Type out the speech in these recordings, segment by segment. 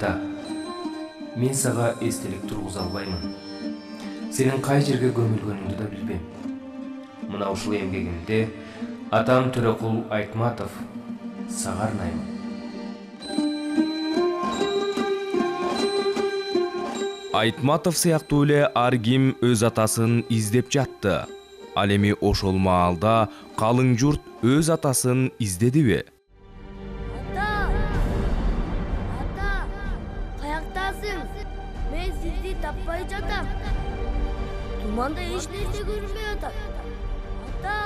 Ата, мен сага эстелик тургуза албаймын. Сенин кай жерге көмүлгөнүңдү да билбейм. Мына ушул эмгегимде атам Төрөкул Айтматов сага арнаймын. Айтматов сыяктуу эле ар ким өз атасын издеп жатты. Ал эми ошол маалда калың журт өз атасын издедиби? Ата, каяктасың? Мен сизди таппай жатам. Туманда эч нерсе көрүнбөй атат. Ата.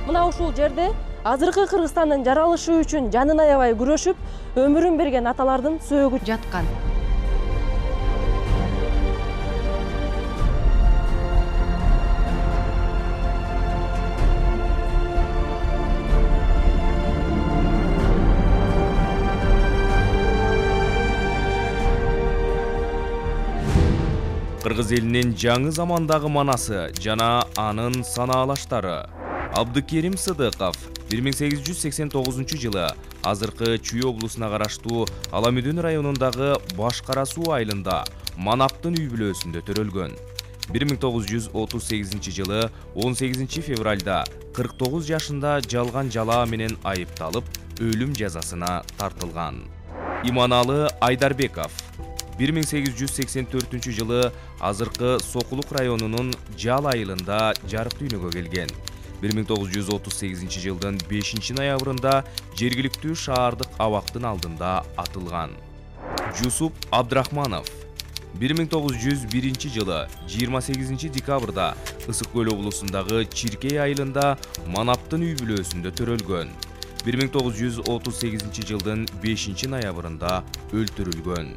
Мына ушул жерде азыркы Кыргызстандын жаралышы үчүн жанын аябай күрөшүп, өмүрүн берген аталардын сөөгү жаткан. Кыргыз элинин жаңы замандагы манасы жана анын санаалаштары. Абдыкерим Сыдыков 1889 жылы азыркы Чүй облусуна караштуу Аламүдүн районундагы Баш Кара Суу айылында Манаптын үй бүлөсүндө төрөлгөн. 1938 жылы 18 февралда 49 жашында жалган жалаа менен айыпталып, өлүм жазасына тартылган. Иманалы Айдарбеков 1884 жылы азыркы Сокулук районунун Жал айылында жарык дүйнөгө келген. 1938 жылдын 5 ноябрында жергиликтүү шаардык абактын алдында атылган. Жусуп Абдрахманов 1901 жылы 28 декабрда Ысык Көл облусундагы Чиркей айылында Манаптын үй бүлөсүндө төрөлгөн. 1938 жылдын 5 ноябрында өлтүрүлгөн.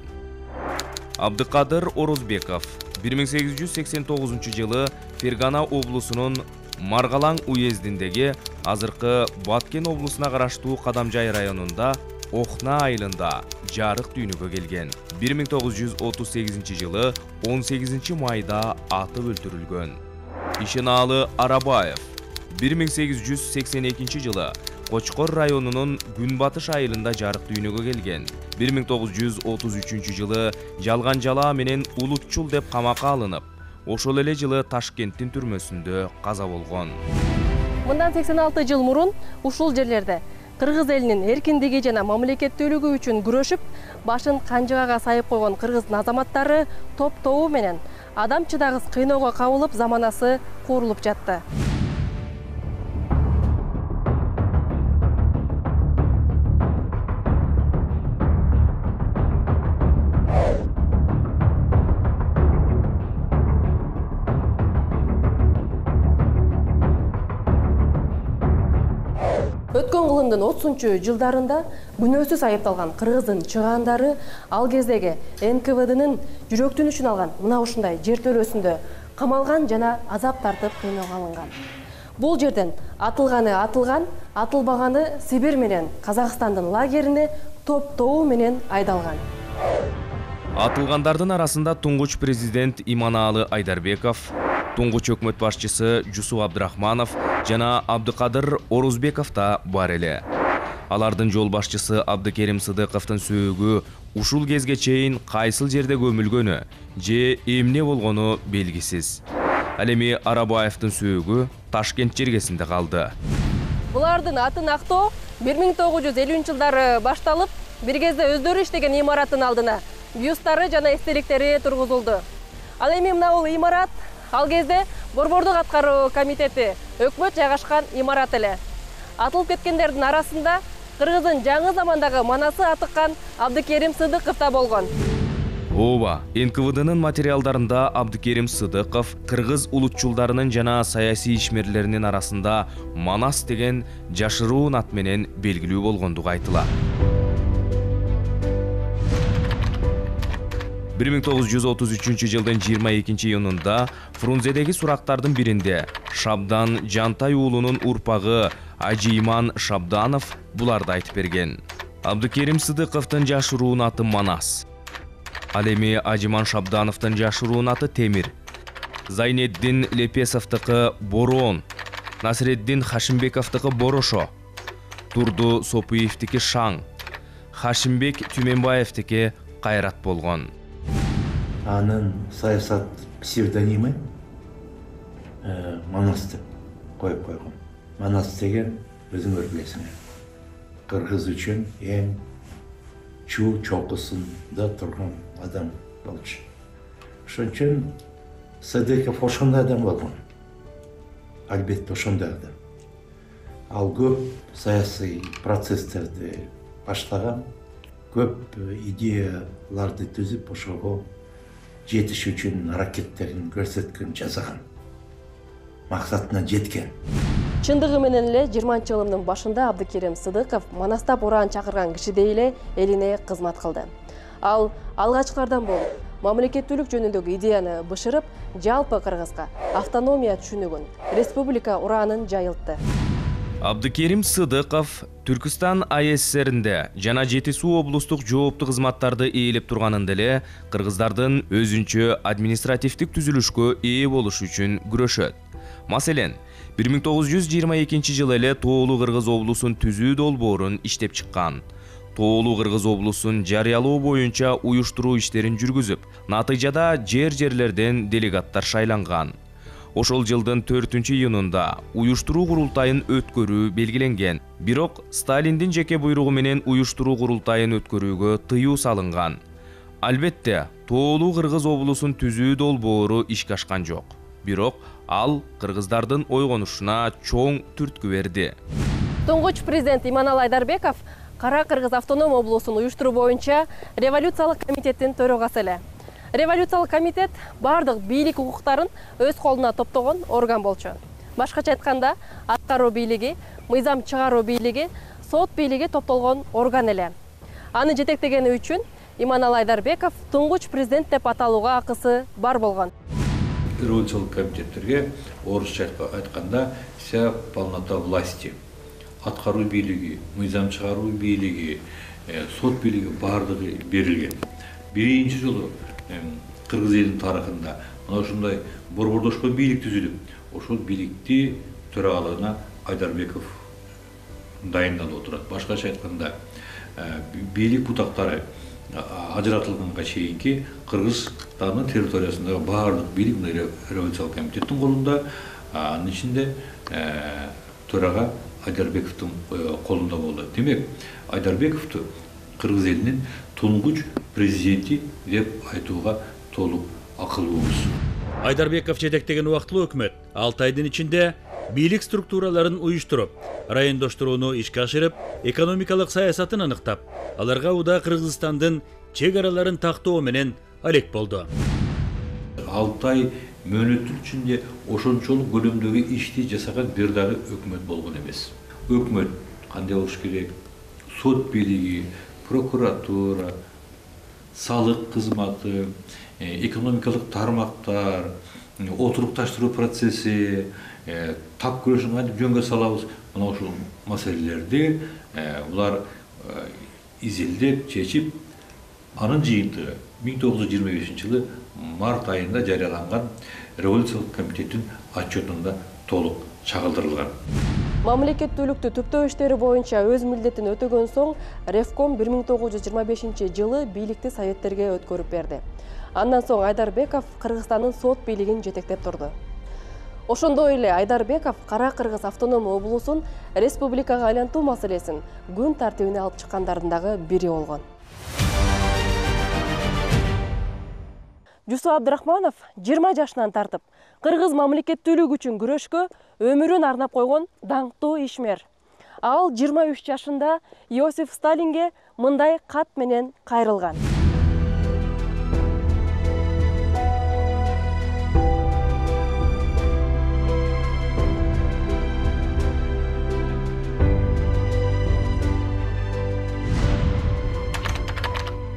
Абдыкадыр Орозбеков 1889 жылы Фергана облусунун Маргалаң уездиндеги азыркы Баткен облусуна караштуу Кадамжай районунда Охна айылында жарык дүйнөгө келген. 1938 жылы 18 майда атып өлтүрүлгөн. Ишенаалы Арабаев 1882 жылы Кочкор районунун Күнбатыш айылында жарык дүйнөгө келген. 1933 жылы жалган жалаа менен улутчул деп камакка алынып, ошол эле жылы Ташкенттин түрмөсүндө каза болгон. Мындан 86 жыл мурун ушул жерлерде кыргыз элинин эркиндиги жана мамлекеттүүлүгү үчүн күрөшүп, башын канжыгага сайып койгон кыргыздын азаматтары топ-тобу менен адам чыдагыс кыйноого кабылып, заманасы куурулуп жатты. Өткөн кылымдын 30-жылдарында күнөөсүз айыпталган кыргыздын чыгаандары ал кездеги НКВДнын жүрөктүнүшүн алган мына ушундай жер төлөөсүндө камалган жана азап тартып кыйноого алынган. Бул жерден атылганы атылган, атылбаганы Сибирь менен Казакстандын лагерине топ-тобу менен айдалган. Атылгандардын арасында туңгуч президент Иманалы Айдарбеков, туңгуч өкмөт башчысы Жусуп Абдрахманов жана Абдыкадыр Орозбеков да бар эле. Алардын жол башчысы Абдыкерим Сыдыковдун сөөгү ушул кезге чейин кайсыл жерде көмүлгөнү же эмне болгону белгисиз. Ал эми Арабаевдин сөөгү Ташкент жергесинде калды. Булардын атын актоо 1950-жылдары башталып, бир кезде өздөрү иштеген имараттын алдына бюсттары жана эстеликтери тургузулду. Ал эми мына бул имарат ал кезде Борбордук аткаруу комитети өкмөт жайгашкан имарат эле. Атылып кеткендердин арасында Кыргыздын жаңы замандагы манасы атыккан Абдыкерим Сыдыков да болгон. Ооба, НКВДнын материалдарында Абдыкерим Сыдыков кыргыз улутчулдарынын жана саясий ишмерлеринин арасында Манас деген жашыруун ат менен белгилүү болгондугу айтылат. 1933 жылдын 22 июнунда Фрунзедеги сурактардын биринде Шабдан Жантай уулунун урпагы Ажиман Шабданов буларды айтып берген. Абдыкерим Сыдыковдун жашыруун аты Манас. Ал эми Ажиман Шабдановдун жашыруун аты Темир. Зайнеддин Лепесовдуку Борон. Насиреддин Хашимбековдуку Борошо, Турду Сопуевдики Шаң, Хашимбек Түменбаевдики Кайрат болгон. Анын саясат псевдонимы Манас деп коюп койгон. Манас деген өзүңөр билесиңер. Кыргыз үчүн эң чокусунда турган адам болчу. Ошон үчүн Садыков ошондой адам болгон. Албетте ошондой адам. Ал көп саясий процесстерди баштаган, көп идеяларды түзүп, ошого жетиш үчүн аракеттерин көрсөткөн, жасаган. Максатына жеткен. Чындыгы менен эле 20-жылдын башында Абдыкерим Сыдыков Манастап ураан чакырган кишидей эле элине кызмат кылды. Ал алгачкылардан болуп, мамлекеттүүлүк жөнүндөгү идеяны бышырып, жалпы Кыргызга автономия түшүнүгүн, республика ураанын жайылтты. Абдыкерим Сыдыков Түркістан АССРинде жана Жети Суу облустук жооптуу кызматтарды ээлеп турганында эле кыргыздардын өзүнчө административдик түзүлүшкө ээ болушу үчүн күрөшөт. Маселен, 1922 жылы эле Тоолуу Кыргыз облусун түзүү долбоорун иштеп чыккан. Тоолуу Кыргыз облусун жарыялоо боюнча уюштуруу иштерин жүргүзүп, натыйжада жерлерден делегаттар шайланган. Ошол жылдын 4-июнунда уюштуруу курултайын өткөрүү белгиленген. Бирок Сталиндин жеке буйругу менен уюштуруу курултайын өткөрүүгө тыюу салынган. Албетте, Тоолуу Кыргыз облусун түзүү долбоору ишке ашкан жок. Бирок ал кыргыздардын ойгонушуна чоң түрткү берди. Туңгуч президент Иманалы Айдарбеков Кара Кыргыз автоном облусун уюштуруу боюнча революциялык комитеттин төрагасы эле. Революциялык комитет бардык бийлик укуктарын өз колуна топтогон орган болчу. Башкача айтканда, аткаруу бийлиги, мыйзам чыгаруу бийлиги, сот бийлиги топтолгон орган эле. Аны жетектегени үчүн Иманалы Айдарбеков туңгуч президент деп аталууга акысы бар болгон. Революциялык комитеттерге орусча айтканда вся полнота власти. Аткаруу бийлиги, мыйзам чыгаруу бийлиги, сот бийлиги бардыгы берилген. Биринчи жолу Кыргыз элинин тарыхында мына ушундай борбордошкон бийлик түзүлүп, ошол бийликти төрагалыгына Айдарбеков дайындалып отурат. Башкача айтканда, бийлик бутактары ажыратылганга чейинки Кыргызстандын территориясындагы баардык бийлик революциялык комитеттин колунда, анын ичинде төрага Айдарбековдун колунда болду. Демек, Айдарбековду Кыргыз элинин туңгуч президенти деп айтууга толук акылбыз. Айдарбеков жетектеген убактылуу өкмөт 6 айдын ичинде бийлик структураларын уюштуруп, райондоштурууну ишке ашырып, экономикалык саясатын аныктап, аларга уда Кыргызстандын чек араларын тактоо менен алек болду. 6 ай мөөнөттүн ичинде ошончолук көлөмдөгү ишти жасаган бир дагы өкмөт болгон эмес. Өкмөт кандай болуш керек? Сот бийлиги, прокуратура, салык кызматы, экономикалык тармактар, отурукташтыруу процесси, тап күрөшүн кантип жөнгө салабыз, мына ушул маселелерди булар изилдеп, чечип, анын жыйынтыгы 1925-жылы март айында жарыяланган революциялык комитеттин отчетунда толук чагылдырылган. Мамлекеттүүлүктү түптөө иштери боюнча өз милдетин өтөгөн соң Ревком 1925-жылы бийликти советтерге өткөрүп берди. Андан соң Айдарбеков Кыргызстандын сот бийлигин жетектеп турду. Ошондой эле Айдарбеков Кара Кыргыз автоном облусун республикага айлантуу маселесин күн тартибине алып чыккандардын дагы бири болгон. Жусуп Абдрахманов 20 жашынан тартып Кыргыз мамлекеттүүлүгү үчүн күрөшкө өмүрүн арнап койгон даңктуу ишмер. Ал 23 жашында Иосиф Сталинге мындай кат менен кайрылган.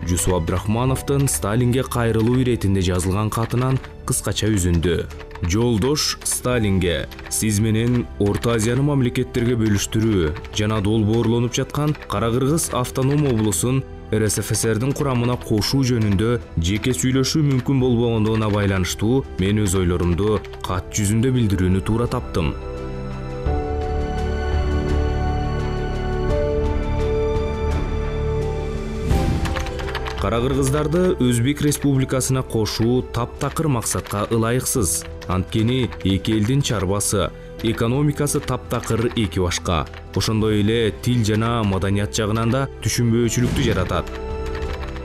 Жусуп Абдрахмановдун Сталинге кайрылуу иретинде жазылган катынан кыскача үзүндү. Жолдош Сталинге, сиз менен Орто Азияны мамлекеттерге бөлүштүрүү жана долбоорлонуп жаткан Кара Кыргыз автоном облусун РСФСРдин курамына кошуу жөнүндө жеке сүйлөшүү мүмкүн болбогондугуна байланыштуу мен өз ойлорумду кат жүзүндө билдирүүнү туура таптым. Кара-кыргыздарды Өзбек Республикасына кошуу таптакыр максатка ылайыксыз. Анткени эки элдин чарбасы, экономикасы таптакыр эки башка. Ошондой эле тил жана маданият жагынан да түшүнбөөчүлүктү жаратат.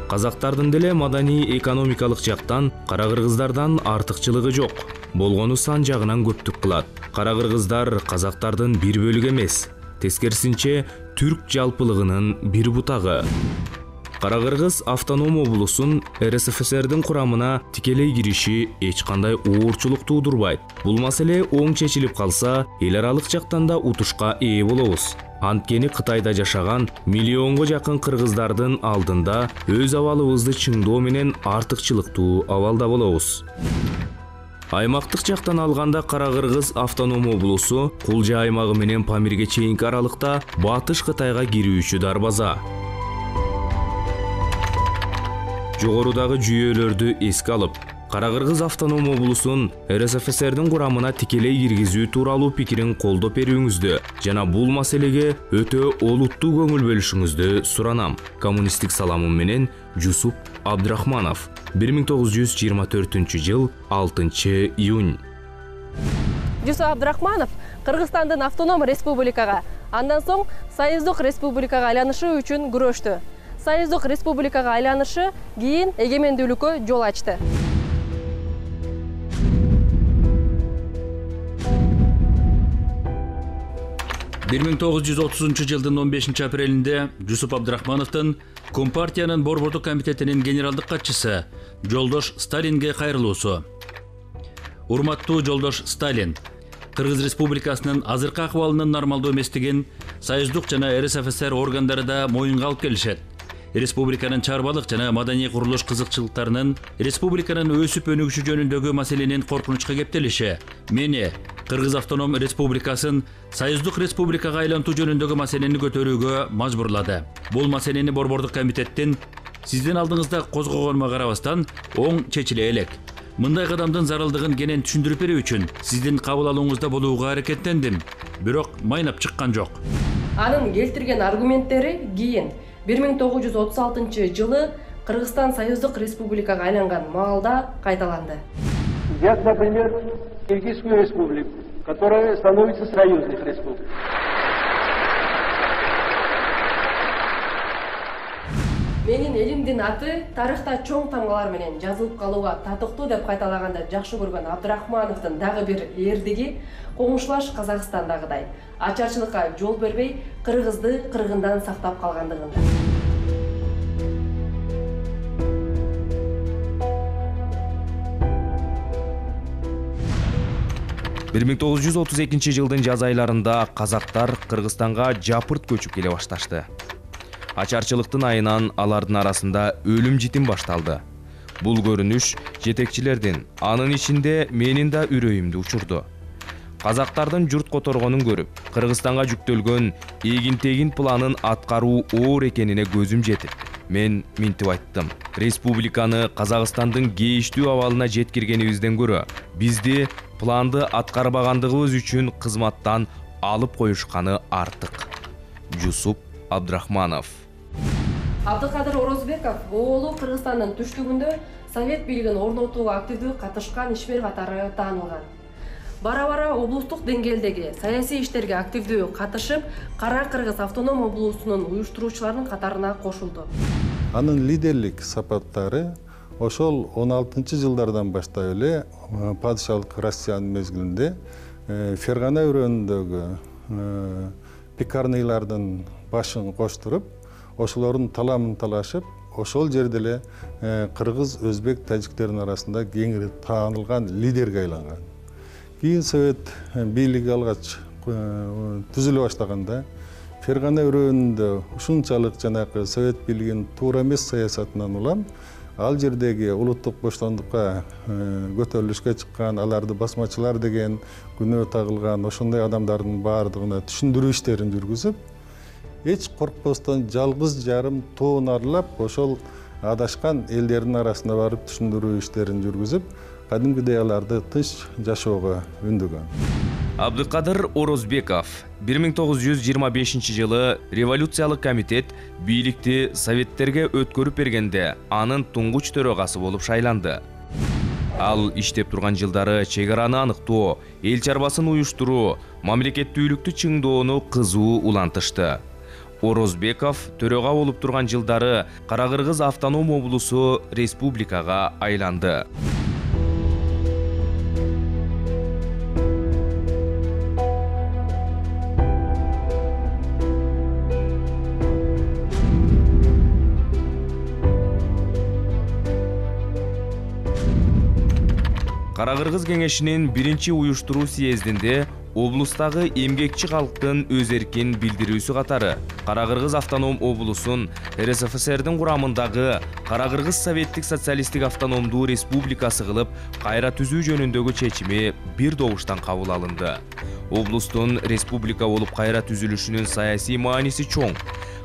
Казактардын деле маданий экономикалык жактан кара-кыргыздардан артыкчылыгы жок. Болгону сан жагынан көптүк кылат. Кара-кыргыздар казактардын бир бөлүгү эмес, тескерисинче түрк жалпылыгынын бир бутагы. Кара-кыргыз автоном облусун РСФСРдин курамына тикелей кириши эч кандай оорчулук туудурбайт. Бул маселе оң чечилип калса, эл аралык жактан да утушка ээ болобуз. Анткени Кытайда жашаган миллионго жакын кыргыздардын алдында өз абалыбызды чыңдоо менен артыкчылыктуу абалда болобуз. Аймактык жактан алганда Кара-кыргыз автоном облусу Кулжа аймагы менен Памирге чейинки аралыкта Батыш Кытайга кирүүчү дарбаза. Жогорудагы жүйөлөрдү эске алып, Кара-кыргыз автоном облусун РСФСРдин курамына тикелей киргизүү тууралуу пикирин колдоп берүүңүздү жана бул маселеге өтө олуттуу көңүл бөлүшүңүздү суранам. Коммунисттик саламым менен Жусуп Абдрахманов. 1924 жыл 6 июнь. Жусуп Абдрахманов Кыргызстандын автоном республикага, андан соң Союздук республикага айланышы үчүн күрөштү. Союздук республикага айланышы кийин эгемендүүлүккө жол ачты. Бир 1930 жылдын 15 апрелинде Жусуп Абдрахмановдун Компартиянын Борбордук комитетинин генералдык катчысы Жолдош Сталинге кайрылуусу. Урматтуу Жолдош Сталин, Кыргыз Республикасынын азыркы акыбалынын нормалдуу эместигин Союздук жана РСФСР органдары да моюнга алып келишет. Республиканын чарбалык жана маданий курулуш кызыкчылыктарынын республиканын өсүп өнүгүшү жөнүндөгү маселенин коркунучка кептелиши мени Кыргыз автоном республикасын Союздук республикага айлантуу жөнүндөгү маселени көтөрүүгө мажбурлады. Бул маселени Борбордук комитеттин сиздин алдыңызда козгогонума карабастан оң чечиле элек. Мындай кадамдын зарылдыгын кенен түшүндүрүп берүү үчүн сиздин кабыл алууңузда болууга аракеттендим, бирок майнап чыккан жок. Анын келтирген аргументтери кийин 1936 жылы Кыргызстан Союздук республикага айланган маалда кайталанды. Взять, например, Киргизскую республику, которая становится союзных республик. Менин элимдин аты тарыхта чоң тамгалар менен жазылып калууга татыктуу деп кайталаганда жакшы көргөн Абдрахмановдун дагы бир эрдиги коңшулаш Казакстандагыдай ачарчылыкка жол бербей кыргызды кыргындан сактап калгандыгында. 1932 жылдын жаз айларында казактар Кыргызстанга жапырт көчүп келе башташты. Ачарчылыктын айынан алардын арасында өлүм житим башталды. Бул көрүнүш жетекчилердин, анын ичинде менин да үрөйүмдү учурду. Казактардын журт которгонун көрүп, Кыргызстанга жүктөлгөн эгин-тегин планын аткаруу оор экенине көзүм жетип, мен минтип айттым. Республиканы Казакстандын кейиштүү абалына жеткиргенибизден көрө, бизди планды аткарбагандыгыбыз үчүн кызматтан алып коюшканы артык. Жусуп Абдрахманов. Абдыкадыр Орозбеков оолу Кыргызстандын түштүгүндө совет бийлигин орнотууга активдүү катышкан ишмер катары таанылган. Бара-бара облустук деңгээлдеги саясий иштерге активдүү катышып, Кара Кыргыз автоном облусунун уюштуруучуларынын катарына кошулду. Анын лидерлик сапаттары ошол 16-жылдардан баштап эле падышалык Россиянын мезгилинде Фергана өрөөнүндөгү пекарныйлардын башын коштуруп, ошолордун таламын талашып, ошол жерде эле кыргыз, өзбек, тажиктердин арасында кеңири таанылган лидерге айланган. Кийин совет бийлиги алгач түзүлө баштаганда Фергана өрөөнүндө ушунчалык жанагы совет бийлигинин туура эмес саясатынан улам ал жердеги улуттук боштондукка көтөрүлүшкө чыккан, аларды басмачылар деген күнөө тагылган ошондой адамдардын баардыгына түшүндүрүү иштерин жүргүзүп, эч коркпостон жалгыз жарым тоон аралап ошол адашкан элдердин арасына барып түшүндүрүү иштерин жүргүзүп, кадимгидей аларды тынч жашоого үндөгөн. Абдыкадыр Орозбеков 1925 жылы революциялык комитет бийликти советтерге өткөрүп бергенде анын туңгуч төрөгасы болуп шайланды. Ал иштеп турган жылдары чек араны аныктоо, эл чарбасын уюштуруу, мамлекеттүүлүктү чыңдоону кызуу улантышты. Орозбеков төрөга болуп турган жылдары Кара-Кыргыз автоном облусу республикага айланды. Кара-Кыргыз кеңешинин биринчи уюштуруу съездинде облустагы эмгекчи калктын өз эркин билдирүүсү катары Кара-Кыргыз автоном облусун РСФСРдин курамындагы Кара-Кыргыз Советтик социалисттик автономдуу республикасы кылып кайра түзүү жөнүндөгү чечими бир добуштан кабыл алынды. Облустун республика болуп кайра түзүлүшүнүн саясий мааниси чоң.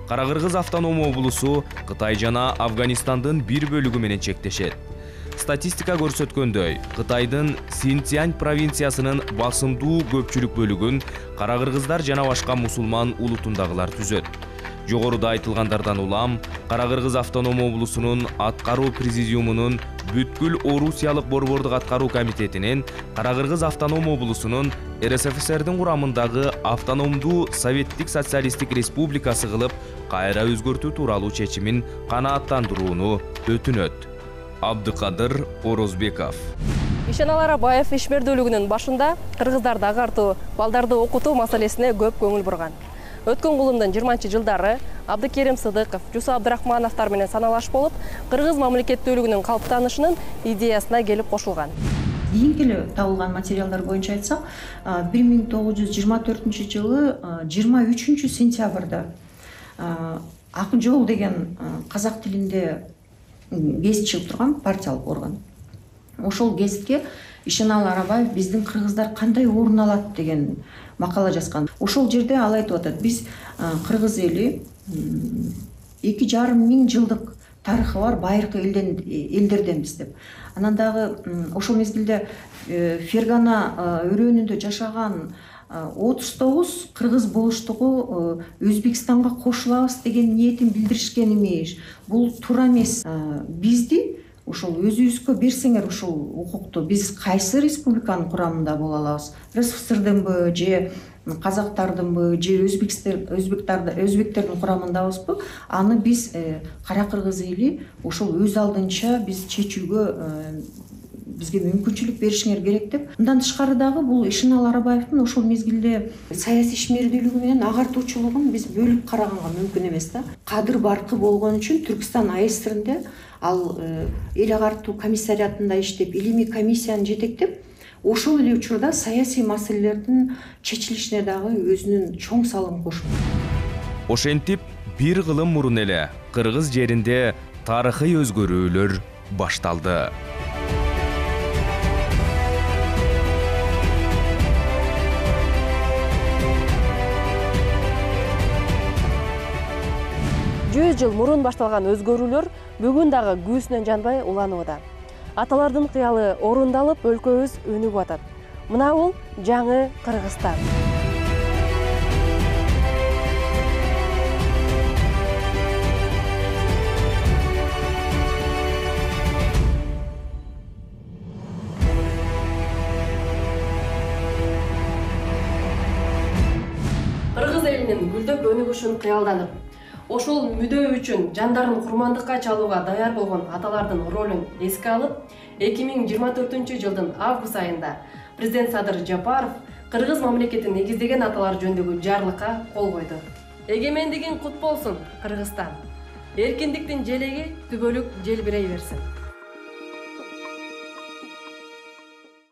Кара-Кыргыз автоном облусу Кытай жана Афганистандын бир бөлүгү менен чектешет. Статистика көрсөткөндөй, Кытайдын Синьцзянь провинциясынын басымдуу көпчүлүк бөлүгүн кара-кыргыздар жана башка мусулман улутундагылар түзөт. Жогоруда айтылгандардан улам, Кара-Кыргыз автоном облусунун аткаруу президиумунун бүткүл Орусиялык борбордук аткаруу комитетинин Кара-Кыргыз автоном облусунун РСФСРдин курамындагы автономдуу Советтик социалисттик республикасы кылып кайра өзгөртүү тууралуу чечимин канааттандырууну өтүнөт. Абдыкадыр Орозбеков. Ишенал Арабаев ишмердүүлүгүнүн башында кыргыздарды агартуу, балдарды окутуу маселесине көп көңүл бурган. Өткөн кылымдын 20-жылдары Абдыкерим Сыдыков, Жусу Абдрахмановтар менен саналаш болуп, кыргыз мамлекеттүүлүгүнүн калыптанышынын идеясына келип кошулган. Кийинки эле табылган материалдар боюнча айтсак, 1924 жылы 23 сентябрда Ак жол деген казак тилинде гезит чыгып турган партиялык орган. Ошол гезитке Ишенал Арабаев биздин кыргыздар кандай орун алат деген макала жазган. Ошол жерде ал айтып атат: биз кыргыз эли 2,5 миң жылдык тарыхы бар байыркы элдерденбиз деп. Анан дагы ошол мезгилде Фергана өрөөнүндө жашаган 39 кыргыз болуштугу Өзбекстанга кошулабыз деген ниетин билдиришкен эмес. Бул туура эмес. Бизди ошол өзүбүзгө берсеңер ушул укукту, биз кайсы республиканын курамында боло алабыз? РСФСРдынбы же казактардынбы же өзбектердин курамындабызбы? Аны биз Кара-Кыргыз эли ошол өз алдынча биз чечүүгө бизге мүмкүнчүлүк беришиңер керек деп. Мындан тышкары дагы бул Ишенал Арабаевдин ошол мезгилде саясий ишмердүүлүгү менен агартуучулугун биз бөлүп караганга мүмкүн эмес да. Кадыр баркы болгон үчүн Түркстан АСРинде ал эл агартуу комиссариатында иштеп, илимий комиссияны жетектеп, ошол эле учурда саясий маселелердин чечилишине дагы өзүнүн чоң салымын кошкон. Ошентип, бир кылым мурун эле кыргыз жеринде тарыхый өзгөрүүлөр башталды. Жүз жыл мурун башталган өзгөрүүлөр бүгүн дагы күүсүнөн жанбай уланууда. Аталардын кыялы орундалып, өлкөбүз өнүгүп атат. Мына бул жаңы Кыргызстан. Кыргыз элинин гүлдөп өнүгүшүн кыялданып, ошол мүдөө үчүн жандарын курмандыкка чалууга даяр болгон аталардын ролун эске алып, 2024 жылдын август айында президент Садыр Жапаров кыргыз мамлекетин негиздеген аталар жөнүндөгү жарлыкка кол койду. Эгемендигиң кут болсун, Кыргызстан. Эркиндиктин желеги түбөлүк желбирей берсин.